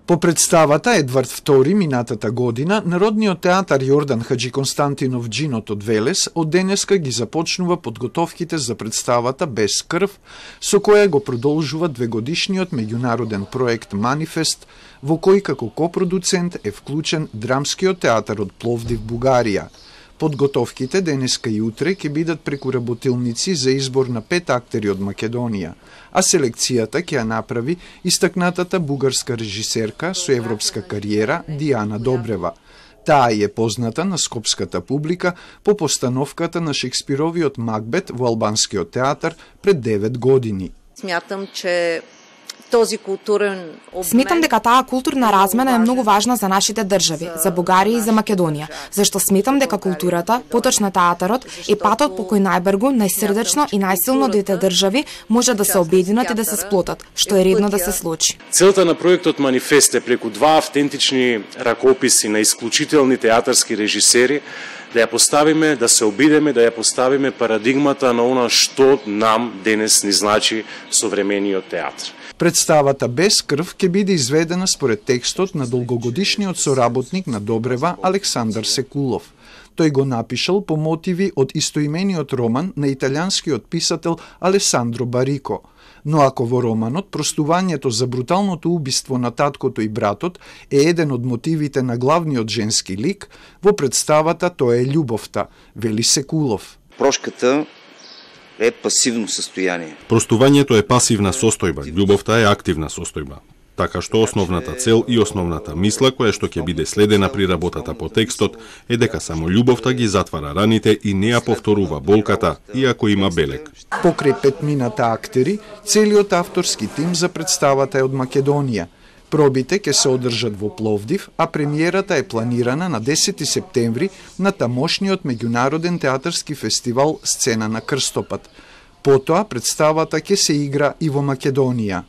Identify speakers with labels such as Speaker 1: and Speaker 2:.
Speaker 1: По представата Едвард II минатата година, Народниот театар Јордан Хаджи Константинов Джинот од Велес од денеска ги започнува подготовките за представата Без крв, со која го продолжува двегодишниот меѓународен проект Манифест, во кој како копродуцент е вклучен Драмскиот театар од Пловдив, Бугарија. Подготовките денеска и утре ќе бидат преку работилници за избор на 5 актери од Македонија, а селекцијата ќе ја направи истакнатата бугарска режисерка со европска кариера Диана Добрева. Таа е позната на скопската публика по постановката на Шекспировиот Макбет во албанскиот театар пред 9 години.
Speaker 2: Сметам дека таа културна размена е многу важна за нашите држави, за Бугарија и за Македонија, зашто сметам дека културата, поточно театарот, е патот по кој најбргу, најсрдечно и најсилно двете држави може да се обединат и да се сплотат, што е редно да се случи.
Speaker 3: Целта на проектот Манифест е преку два автентични ракописи на исклучителни театарски режисери да ја поставиме, да се обидеме, да ја поставиме парадигмата на она што нам денес ни значи современиот театар.
Speaker 1: Представата Без крв ќе биде изведена според текстот на долгогодишниот соработник на Добрева Александар Секулов. Тој го напишал по мотиви од истоимениот роман на италијанскиот писател Алесандро Барико. Но ако во романот простувањето за бруталното убиство на таткото и братот е еден од мотивите на главниот женски лик, во представата тоа е љубовта, вели Секулов.
Speaker 4: Прошката е пасивно состојание.
Speaker 5: Простувањето е пасивна состојба, љубовта е активна состојба. Така што основната цел и основната мисла која што ќе биде следена при работата по текстот е дека само љубовта ги затвара раните и не ја повторува болката, иако има белег.
Speaker 1: Покрај петмината актери, целиот авторски тим за представата е од Македонија. Пробите ќе се одржат во Пловдив, а премиерата е планирана на 10 септември на тамошниот меѓународен театарски фестивал Сцена на крстопат. Потоа представата ќе се игра и во Македонија.